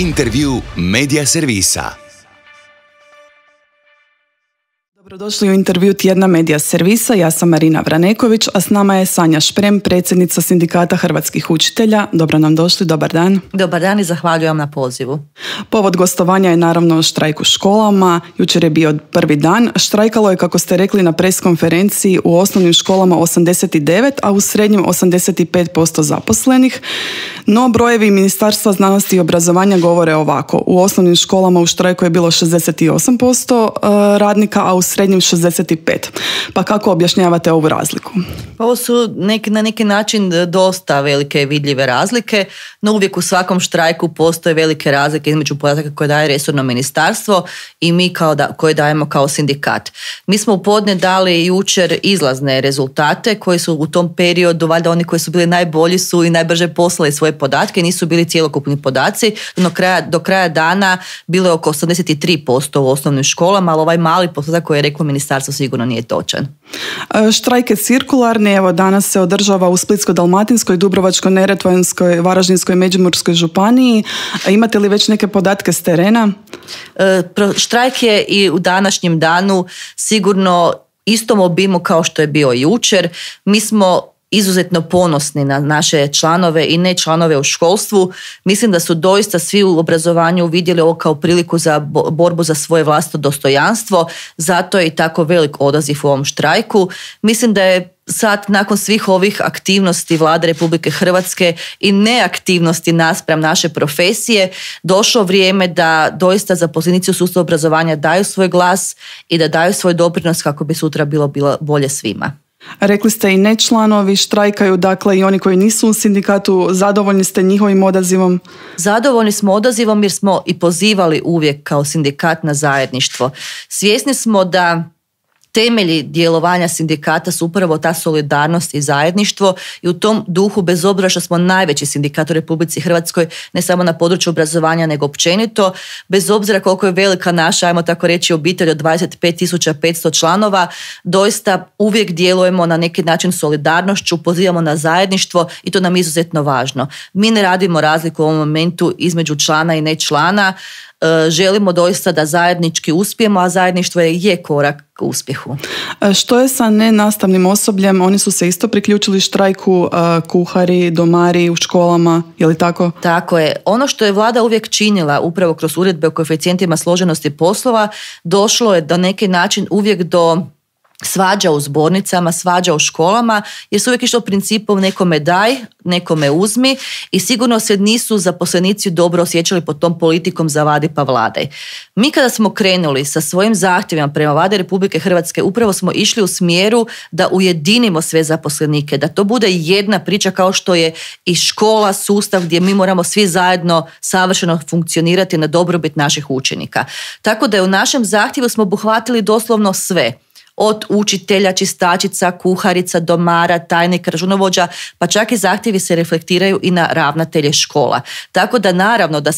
Intervju Medija servisa. Dobrodošli u intervju tjedna Medija servisa. Ja sam Marina Vraneković, a s nama je Sanja Šprem, predsjednica Sindikata hrvatskih učitelja. Dobro nam došli, dobar dan. Dobar dan i zahvaljujem na pozivu. Povod gostovanja je naravno štrajk u školama. Jučer je bio prvi dan. Štrajkalo je, kako ste rekli na pres konferenciji, u osnovnim školama 89, a u srednjim 85% zaposlenih. No, brojevi Ministarstva znanosti i obrazovanja govore ovako. U osnovnim školama u štrajku je bilo 68% radnika, a u srednjim 65. Pa kako objašnjavate ovu razliku? Ovo su na neki način dosta velike vidljive razlike, no uvijek u svakom štrajku postoje velike razlike između podataka koje daje resorno ministarstvo i mi koje dajemo kao sindikat. Mi smo u podne dali jučer izlazne rezultate koji su u tom periodu, valjda oni koji su bili najbolji su i najbrže poslali svoje podatke, nisu bili cjelokupni podaci, no do kraja dana bilo je oko 83% u osnovnim školama, ali ovaj mali postotak koji je reklo ministarstvo sigurno nije točan. Štrajk je cirkularni, evo danas se održava u Splitsko-dalmatinskoj, Dubrovačko-neretvanskoj, Varaždinskoj, Međimurskoj županiji. Imate li već neke podatke s terena? Štrajk je i u današnjem danu sigurno istom obimu kao što je bio jučer. Mi smo izuzetno ponosni na naše članove i ne članove u školstvu. Mislim da su doista svi u obrazovanju vidjeli ovo kao priliku za borbu za svoje vlastito dostojanstvo, zato je i tako velik odaziv u ovom štrajku. Mislim da je sad nakon svih ovih aktivnosti Vlade Republike Hrvatske i neaktivnosti naspram naše profesije došlo vrijeme da doista zaposlenici u sustavu obrazovanja daju svoj glas i da daju svoj doprinos kako bi sutra bilo bolje svima. Rekli ste i ne članovi štrajkaju, dakle i oni koji nisu u sindikatu, zadovoljni ste njihovim odazivom? Zadovoljni smo odazivom jer smo i pozivali uvijek kao sindikat na zajedništvo. Svjesni smo da temelji djelovanja sindikata su upravo ta solidarnost i zajedništvo i u tom duhu, bez obzira što smo najveći sindikat u Republici Hrvatskoj, ne samo na području obrazovanja nego općenito, bez obzira koliko je velika naša, ajmo tako reći, obitelj od 25.500 članova, doista uvijek djelujemo na neki način solidarnošću, pozivamo na zajedništvo i to nam je izuzetno važno. Mi ne radimo razliku u ovom momentu između člana i ne člana. Želimo doista da zajednički uspijemo, a zajedništvo je korak k uspjehu. Što je sa nenastavnim osobljem? Oni su se isto priključili štrajku, kuhari, domari u školama, je li tako? Tako je. Ono što je Vlada uvijek činila upravo kroz uredbe o koeficijentima složenosti poslova, došlo je do neki način uvijek do svađa u zbornicama, svađa u školama, jer su uvijek išlo principom nekome daj, nekome uzmi i sigurno se nisu zaposlenici dobro osjećali pod tom politikom zavadi pa vladaj. Mi kada smo krenuli sa svojim zahtjevima prema Vladi Republike Hrvatske, upravo smo išli u smjeru da ujedinimo sve zaposlenike, da to bude jedna priča kao što je i škola, sustav gdje mi moramo svi zajedno savršeno funkcionirati na dobrobit naših učenika. Tako da je u našem zahtjevu smo obuhvatili doslovno sve. Od učitelja, čistačica, kuharica, domara, tajnika, računovođa, pa čak i zahtjevi se reflektiraju i na ravnatelje škola. Tako da naravno da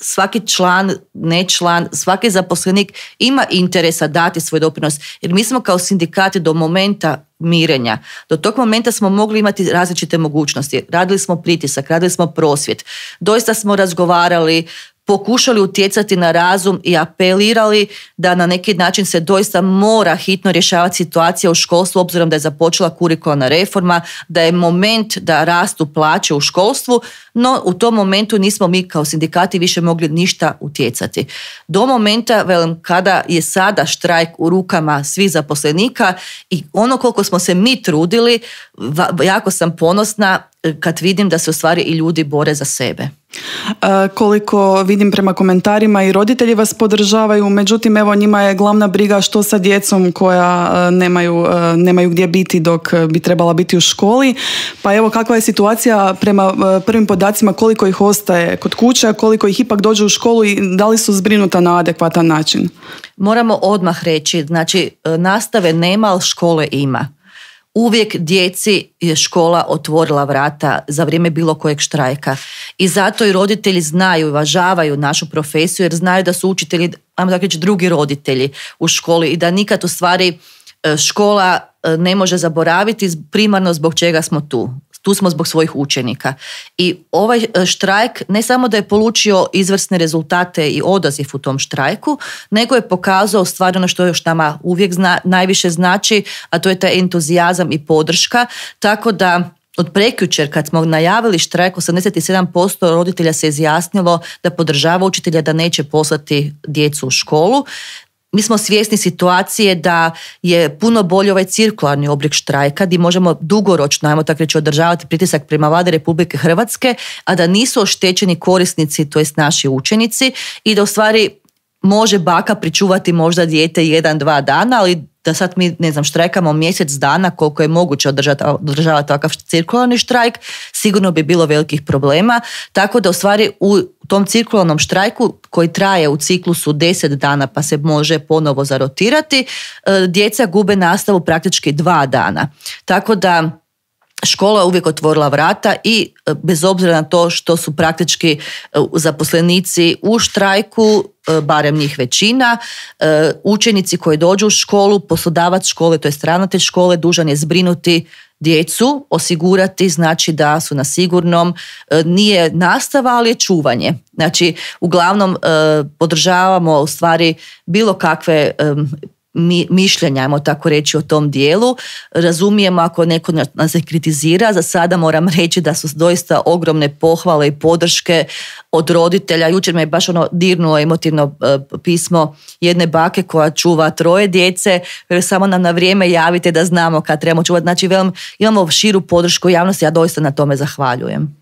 svaki član, ne član, svaki zaposlenik ima interesa dati svoj doprinos, jer mi smo kao sindikati do momenta mirenja, do tog momenta smo mogli imati različite mogućnosti. Radili smo pritisak, radili smo prosvjed, doista smo razgovarali, pokušali utjecati na razum i apelirali da na neki način se doista mora hitno rješavati situacija u školstvu, obzirom da je započela kurikularna reforma, da je moment da rastu plaće u školstvu, no u tom momentu nismo mi kao sindikati više mogli ništa utjecati. Do momenta, kada je sada štrajk u rukama svih zaposlenika i ono koliko smo se mi trudili, jako sam ponosna kad vidim da se u stvari i ljudi bore za sebe. Koliko vidim prema komentarima i roditelji vas podržavaju, međutim evo njima je glavna briga što sa djecom koja nemaju gdje biti dok bi trebala biti u školi. Pa evo kakva je situacija prema prvim podacima, koliko ih ostaje kod kuće, koliko ih ipak dođe u školu i da li su zbrinuta na adekvatan način? Moramo odmah reći, znači nastave nema, ali škole ima. Uvijek djeci je škola otvorila vrata za vrijeme bilo kojeg štrajka. I zato i roditelji znaju i uvažavaju našu profesiju jer znaju da su učitelji, ajmo tako reći, drugi roditelji u školi i da nikad u stvari škola ne može zaboraviti primarno zbog čega smo tu. tu smo zbog svojih učenika. I ovaj štrajk ne samo da je polučio izvrsne rezultate i odaziv u tom štrajku, nego je pokazao stvarno ono što još nama uvijek najviše znači, a to je taj entuzijazam i podrška, tako da od prekjučer kad smo najavili štrajk, 87% roditelja se izjasnilo da podržava učitelja da neće poslati djecu u školu. Mi smo svjesni situacije da je puno bolji ovaj cirkularni oblik štrajka gdje možemo dugoročno, ajmo tako reći, održavati pritisak prema Vladi Republike Hrvatske, a da nisu oštećeni korisnici, to jest naši učenici, i da u stvari može baka pričuvati možda dijete 1-2 dana, ali da sad mi, ne znam, štrajkamo mjesec dana, koliko je moguće održavati takav cirkularni štrajk, sigurno bi bilo velikih problema. Tako da u stvari u tom cirkularnom štrajku koji traje u ciklusu 10 dana pa se može ponovo zarotirati, djeca gube nastavu praktički 2 dana. Tako da škola je uvijek otvorila vrata i bez obzira na to što su praktički zaposlenici u štrajku, barem njih većina, učenici koji dođu u školu, poslodavac škole, to je ravnatelj škole, dužan je zbrinuti djecu, osigurati, znači da su na sigurnom, nije nastava, ali je čuvanje. Znači, uglavnom podržavamo u stvari bilo kakve mišljenja, ajmo tako reći, o tom dijelu. Razumijemo ako neko nas se kritizira, za sada moram reći da su doista ogromne pohvale i podrške od roditelja. Jučer me je baš dirnulo emotivno pismo jedne bake koja čuva 3 djece, jer samo nam na vrijeme javite da znamo kad trebamo čuvati. Znači, imamo širu podršku javnosti, ja doista na tome zahvaljujem.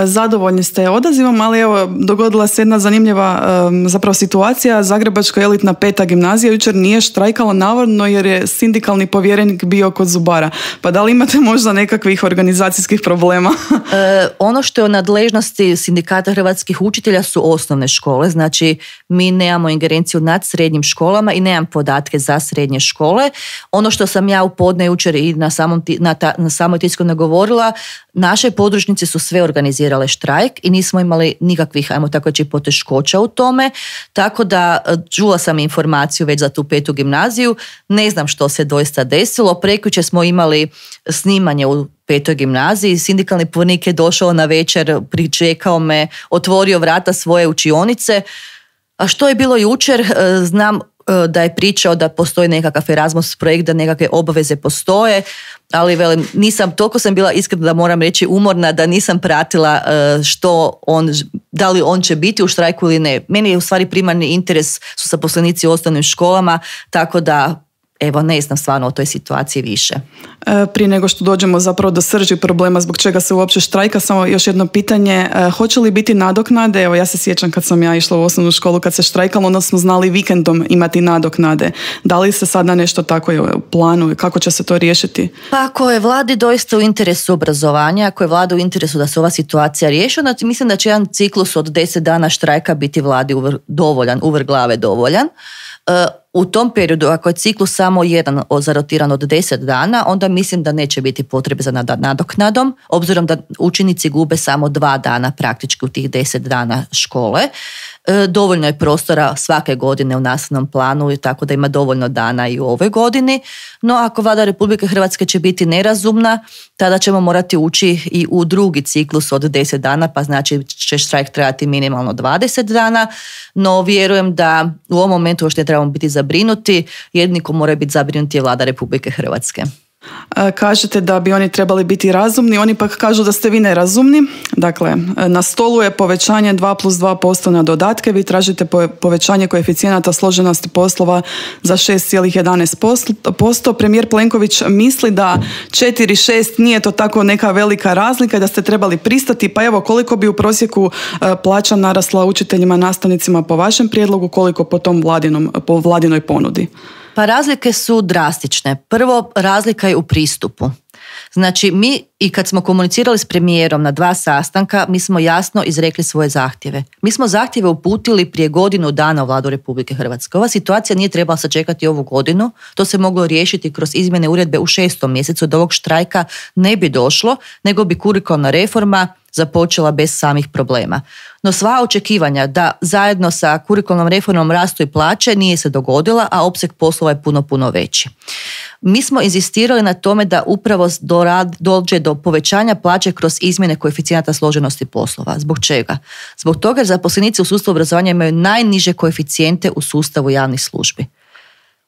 Zadovoljni ste odazivom, ali evo, dogodila se jedna zanimljiva zapravo situacija. Zagrebačka elitna 5. gimnazija jučer nije štrajkala navodno jer je sindikalni povjerenik bio kod zubara. Pa da li imate možda nekakvih organizacijskih problema? Ono što je u nadležnosti Sindikata hrvatskih učitelja su osnovne škole, znači mi nemamo ingerenciju nad srednjim školama i nemam podatke za srednje škole. Ono što sam ja u podne jučer i na samoj tiskovnoj govorila, naše podružnice su sve organizirale štrajk i nismo imali nikakvih, ajmo tako reći, poteškoća u tome, tako da čula sam informaciju već za tu 5. gimnaziju, ne znam što se doista desilo. Prekjučer smo imali snimanje u 5. gimnaziji, sindikalni povjerenik je došao na večer, pričekao me, otvorio vrata svoje učionice. A što je bilo jučer, znam da je pričao da postoji nekakav Erasmus projekt, da nekakve obaveze postoje, ali velim, toliko sam bila iskrena da moram reći umorna da nisam pratila da li on će biti u štrajku ili ne. Meni je u stvari primarni interes su zaposlenici u osnovnim školama, tako da evo, ne znam stvarno o toj situaciji više. Prije nego što dođemo zapravo do srži problema zbog čega se uopće štrajka, samo još jedno pitanje. Hoće li biti nadoknade? Evo, ja se sjećam kad sam ja išla u osnovnu školu, kad se štrajkalo, onda smo znali vikendom imati nadoknade. Da li se sada nešto tako je u planu i kako će se to riješiti? Pa ako je vladi doista u interesu obrazovanja, ako je vlada u interesu da se ova situacija riješi, onda mislim da će jedan ciklus od 10 dana štrajka biti vladi uvrh glave dovoljan. U tom periodu, ako je ciklus samo jedan zarotiran od 10 dana, onda mislim da neće biti potrebe za nadoknadom, obzirom da učenici gube samo 2 dana praktički u tih 10 dana škole. Dovoljno je prostora svake godine u nastavnom planu i tako da ima dovoljno dana i u ovoj godini. No ako Vlada Republike Hrvatske će biti nerazumna, tada ćemo morati ući i u drugi ciklus od 10 dana, pa znači će štrajk trajati minimalno 20 dana, no vjerujem da u ovom momentu još ne trebamo biti zabrinuti, jedini ko mora biti zabrinuti je Vlada Republike Hrvatske. Kažete da bi oni trebali biti razumni, oni pak kažu da ste vi nerazumni. Dakle, na stolu je povećanje 2+2% na dodatke, vi tražite povećanje koeficijenata složenosti poslova za 6,11%. Premijer Plenković misli da 4,6 nije to tako neka velika razlika, da ste trebali pristati, pa evo koliko bi u prosjeku plaća narasla učiteljima, nastavnicima po vašem prijedlogu, koliko po vladinoj ponudi? Pa razlike su drastične. Prvo, razlika je u pristupu. Znači, mi i kad smo komunicirali s premijerom na 2 sastanka, mi smo jasno izrekli svoje zahtjeve. Mi smo zahtjeve uputili prije godinu dana u Vladu Republike Hrvatske. Ova situacija nije trebala sačekati ovu godinu, to se moglo riješiti kroz izmjene uredbe u 6. mjesecu, do ovog štrajka ne bi došlo, nego bi kurikularna reforma započela bez samih problema. No sva očekivanja da zajedno sa kurikularnom reformom rastu i plaće nije se dogodila, a opseg poslova je puno veći. Mi smo inzistirali na tome da upravo dođe do povećanja plaće kroz izmjene koeficijenata složenosti poslova. Zbog čega? Zbog toga jer zaposlenici u sustavu obrazovanja imaju najniže koeficijente u sustavu javnih službi.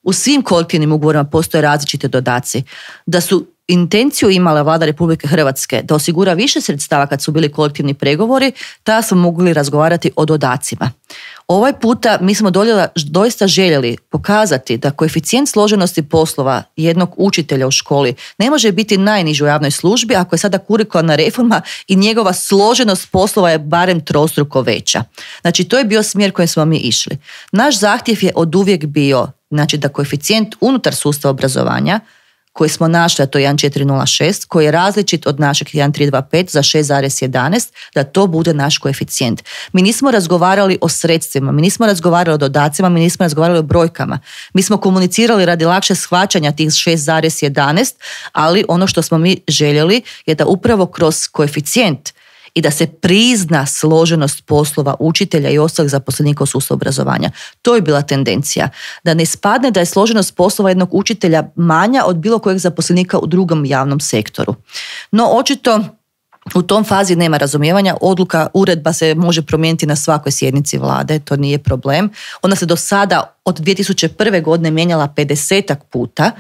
U svim kolektivnim ugovorima postoje različite dodaci. Da su intenciju imala Vlada Republike Hrvatske da osigura više sredstava kad su bili kolektivni pregovori, tada smo mogli razgovarati o dodacima. Ovaj puta mi smo doista željeli pokazati da koeficijent složenosti poslova jednog učitelja u školi ne može biti najniži u javnoj službi ako je sada kurikularna reforma i njegova složenost poslova je barem trostruko veća. Znači, to je bio smjer kojim smo mi išli. Naš zahtjev je oduvijek bio, znači, da koeficijent unutar sustava obrazovanja koji smo našli, a to je 1406, koji je različit od našeg 1325 za 6,11, da to bude naš koeficijent. Mi nismo razgovarali o sredstvima, mi nismo razgovarali o dodacima, mi nismo razgovarali o brojkama. Mi smo komunicirali radi lakše shvaćanja tih 6,11, ali ono što smo mi željeli je da upravo kroz koeficijent i da se prizna složenost poslova učitelja i ostalih zaposlenika u sustavu obrazovanja. To je bila tendencija. Da ne ispadne da je složenost poslova jednog učitelja manja od bilo kojeg zaposlenika u drugom javnom sektoru. No, očito u tom fazi nema razumijevanja. Uredba se može promijeniti na svakoj sjednici vlade, to nije problem. Ona se do sada od 2001. godine mijenjala 50-ak puta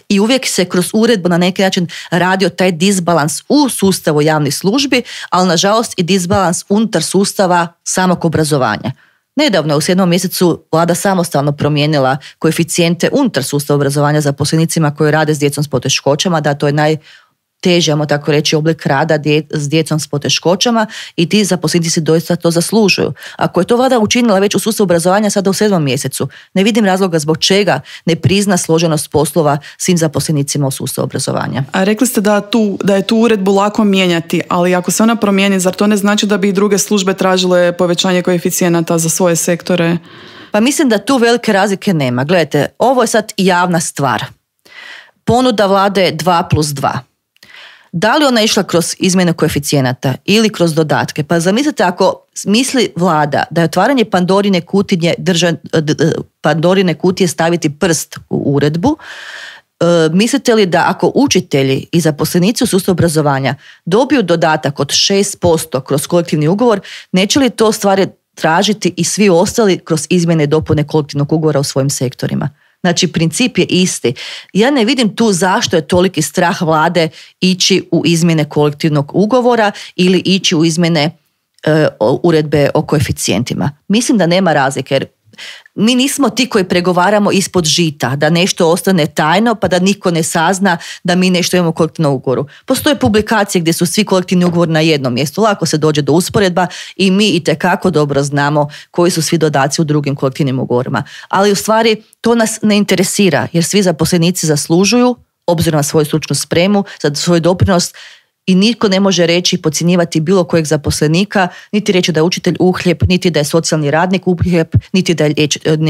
i uvijek se kroz uredbu na neki način radio taj disbalans u sustavu javnih službi, ali nažalost i disbalans unutar sustava samog obrazovanja. Nedavno u 7. mjesecu Vlada samostalno promijenila koeficijente unutar sustava obrazovanja zaposlenicima koji rade s djecom s poteškoćama, da to je najteži, ajmo tako reći, oblik rada s djecom s poteškoćama i ti zaposlenici se doista to zaslužuju. Ako je to Vlada učinila već u sustavu obrazovanja sada u 7. mjesecu, ne vidim razloga zbog čega ne prizna složenost poslova svim zaposlenicima u sustavu obrazovanja. A rekli ste da je tu uredbu lako mijenjati, ali ako se ona promijeni, zar to ne znači da bi i druge službe tražile povećanje koeficijenata za svoje sektore? Pa mislim da tu velike razlike nema. Gledajte, ovo je sad javna stvar. Ponuda Vlade je 2+2. Da li ona išla kroz izmjene koeficijenata ili kroz dodatke? Pa zamislite ako misli Vlada da je otvaranje Pandorine kutije staviti prst u uredbu, mislite li da ako učitelji i zaposlenici u sustavu obrazovanja dobiju dodatak od 6% kroz kolektivni ugovor, neće li to stvari tražiti i svi ostali kroz izmjene i dopune kolektivnog ugovora u svojim sektorima? Znači, princip je isti. Ja ne vidim tu zašto je toliki strah Vlade ići u izmjene kolektivnog ugovora ili ići u izmjene uredbe o koeficijentima. Mislim da nema razlike, jer mi nismo ti koji pregovaramo ispod žita, da nešto ostane tajno pa da niko ne sazna da mi nešto imamo u kolektivnom ugovoru. Postoje publikacije gdje su svi kolektivni ugovori na jednom mjestu, lako se dođe do usporedba i mi itekako dobro znamo koji su svi dodaci u drugim kolektivnim ugovorima. Ali u stvari to nas ne interesira jer svi zaposlenici zaslužuju, obzirom na svoju stručnu spremu, za svoj doprinos, i nitko ne može reći i podcjenjivati bilo kojeg zaposlenika, niti reći da je učitelj uhljeb, niti da je socijalni radnik uhljeb,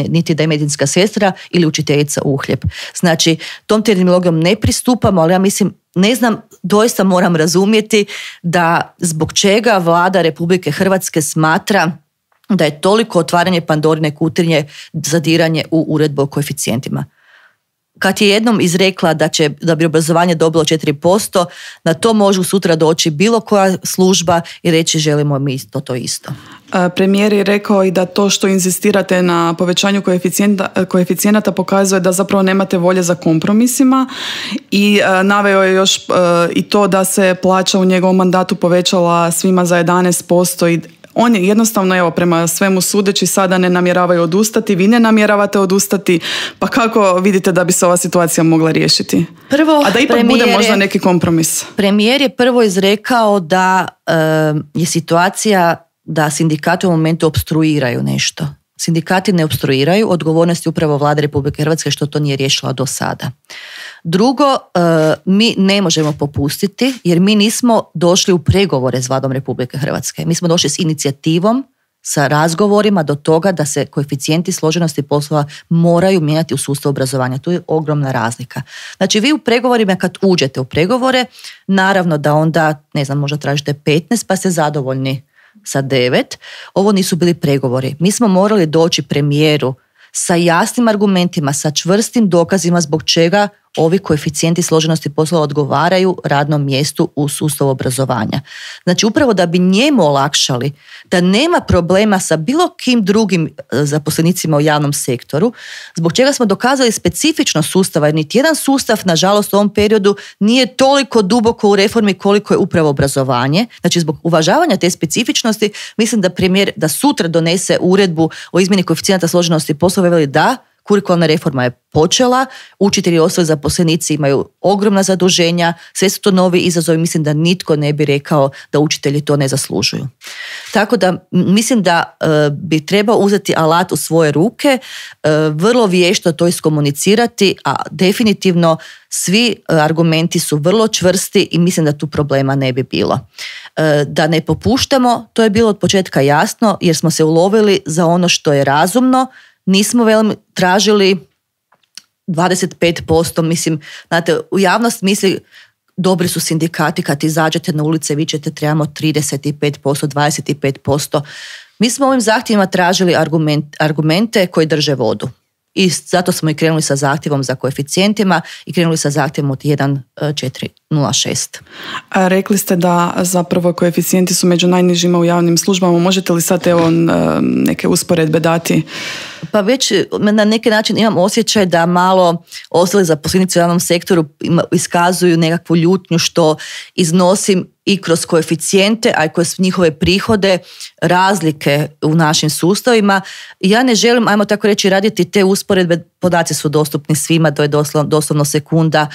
niti da je medicinska sestra ili učiteljica uhljeb. Znači, tom terminologijom ne pristupamo, ali ja mislim, ne znam, doista moram razumjeti da zbog čega Vlada Republike Hrvatske smatra da je toliko otvaranje Pandorine kutije zadiranje u uredbu o koeficijentima. Kad je jednom izrekla da bi obrazovanje dobilo 4%, na to može sutra doći bilo koja služba i reći želimo mi to isto. Premijer je rekao i da to što inzistirate na povećanju koeficijenata pokazuje da zapravo nemate volje za kompromisima i naveo je još i to da se plaća u njegovom mandatu povećala svima za 11% i on je jednostavno, evo, prema svemu sudeći sada ne namjeravaju odustati, vi ne namjeravate odustati, pa kako vidite da bi se ova situacija mogla riješiti? Prvo, a da ipak bude možda neki kompromis. Premijer je prvo izrekao da je situacija da sindikati u momentu opstruiraju nešto. Sindikati ne opstruiraju, odgovornost je upravo Vlade Republike Hrvatske što to nije riješila do sada. Drugo, mi ne možemo popustiti jer mi nismo došli u pregovore s Vladom Republike Hrvatske. Mi smo došli s inicijativom sa razgovorima do toga da se koeficijenti složenosti poslova moraju mijenjati u sustavu obrazovanja. Tu je ogromna razlika. Znači vi u pregovorima kad uđete u pregovore, naravno da onda, ne znam, možda tražite 15 pa ste zadovoljni sa 9. Ovo nisu bili pregovori. Mi smo morali doći premijeru sa jasnim argumentima, sa čvrstim dokazima zbog čega ovi koeficijenti složenosti poslova odgovaraju radnom mjestu u sustavu obrazovanja. Znači upravo da bi njemu olakšali da nema problema sa bilo kim drugim zaposlenicima u javnom sektoru, zbog čega smo dokazali specifičnost sustava, jer niti jedan sustav, nažalost, u ovom periodu nije toliko duboko u reformi koliko je upravo obrazovanje. Znači zbog uvažavanja te specifičnosti mislim da premijer da sutra donese uredbu o izmjeni koeficijenata složenosti poslova, veli da kurikularna reforma je počela, učitelji i ostali zaposlenici imaju ogromna zaduženja, sve su to novi izazovi, mislim da nitko ne bi rekao da učitelji to ne zaslužuju. Tako da mislim da bi trebao uzeti alat u svoje ruke, vrlo vješto to iskomunicirati, a definitivno svi argumenti su vrlo čvrsti i mislim da tu problema ne bi bilo. Da ne popuštamo, to je bilo od početka jasno jer smo se ulovili za ono što je razumno. Nismo tražili 25%, mislim, znate, u javnost misli dobri su sindikati kad izađete na ulice, vi ćete trebamo 35%, 25%. Mi smo ovim zahtjevima tražili argumente koji drže vodu. I zato smo i krenuli sa zahtjevom za koeficijentima i krenuli sa zahtjevom od 1,406. A rekli ste da zapravo koeficijenti su među najnižima u javnim službama. Možete li sad neke usporedbe dati? Pa već na neki način imam osjećaj da malo ostali zaposlenici u javnom sektoru iskazuju nekakvu ljutnju što iznosim i kroz koeficijente, a i kroz njihove prihode razlike u našim sustavima. Ja ne želim, ajmo tako reći, raditi te usporedbe, podaci su dostupni svima, to je doslovno sekunda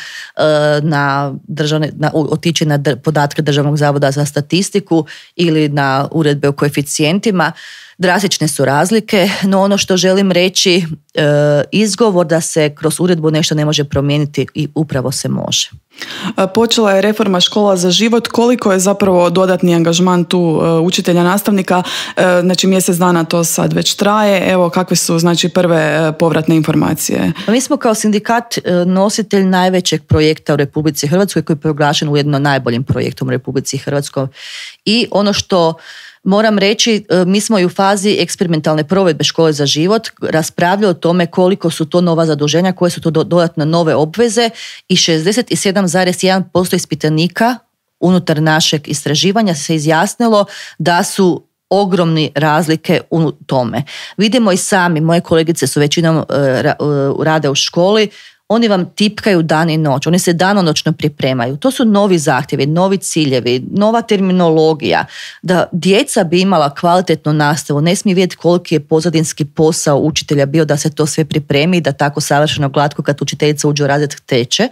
otići na podatke Državnog zavoda za statistiku ili na uredbe o koeficijentima. Drastične su razlike, no ono što želim reći, izgovor da se kroz uredbu nešto ne može promijeniti i upravo se može. Počela je reforma Škola za život. Koliko je zapravo dodatni angažman tu učitelja, nastavnika? Znači mjesec dana to sad već traje. Evo kakve su znači prve povratne informacije? Mi smo kao sindikat nositelj najvećeg projekta u Republici Hrvatskoj koji je proglašen ujedno najboljim projektom u Republici Hrvatskoj. I ono što moram reći, mi smo i u fazi eksperimentalne provedbe Škole za život raspravljali o tome koliko su to nova zaduženja, koje su to dodatno nove obveze i 67,1% ispitanika unutar našeg istraživanja se izjasnilo da su ogromne razlike u tome. Vidimo i sami, moje kolegice su većinom rade u školi, oni vam tipkaju dan i noć, oni se danonoćno pripremaju. To su novi zahtjevi, novi ciljevi, nova terminologija. Da djeca bi imala kvalitetnu nastavu, ne smije vidjeti koliki je pozadinski posao učitelja bio da se to sve pripremi i da tako savršeno glatko kad učiteljica uđe u razred teče.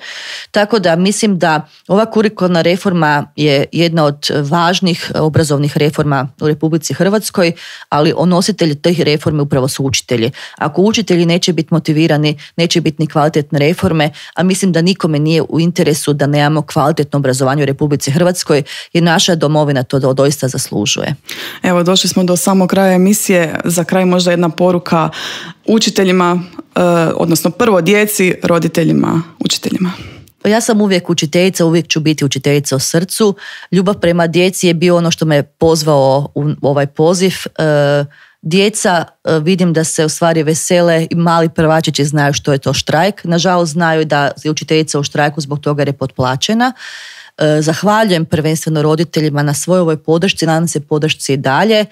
Tako da mislim da ova kurikularna reforma je jedna od važnih obrazovnih reforma u Republici Hrvatskoj, ali nositelji tih reformi upravo su učitelji. Ako učitelji neće biti motivirani, neće biti ni kvalitetne reforme, a mislim da nikome nije u interesu da nemamo kvalitetno obrazovanje u Republici Hrvatskoj, jer naša domovina to doista zaslužuje. Evo, došli smo do samog kraja emisije. Za kraj možda jedna poruka učiteljima, odnosno prvo djeci, roditeljima, učiteljima. Ja sam uvijek učiteljica, uvijek ću biti učiteljica u srcu. Ljubav prema djeci je bio ono što me pozvao u ovaj poziv. Djeca, vidim da se u stvari vesele i mali prvačići znaju što je to štrajk. Nažalost znaju da je učiteljica u štrajku zbog toga jer je potplaćena. Zahvaljujem prvenstveno roditeljima na svojoj ovoj podršci, nadam se podršci i dalje.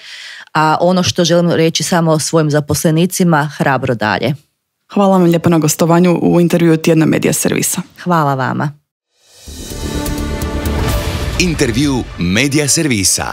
A ono što želim reći samo svojim zaposlenicima, hrabro dalje. Hvala vam lijepo na gostovanju u intervjuu Tjedna Medija Servisa. Hvala vama. Intervju Medija Servisa.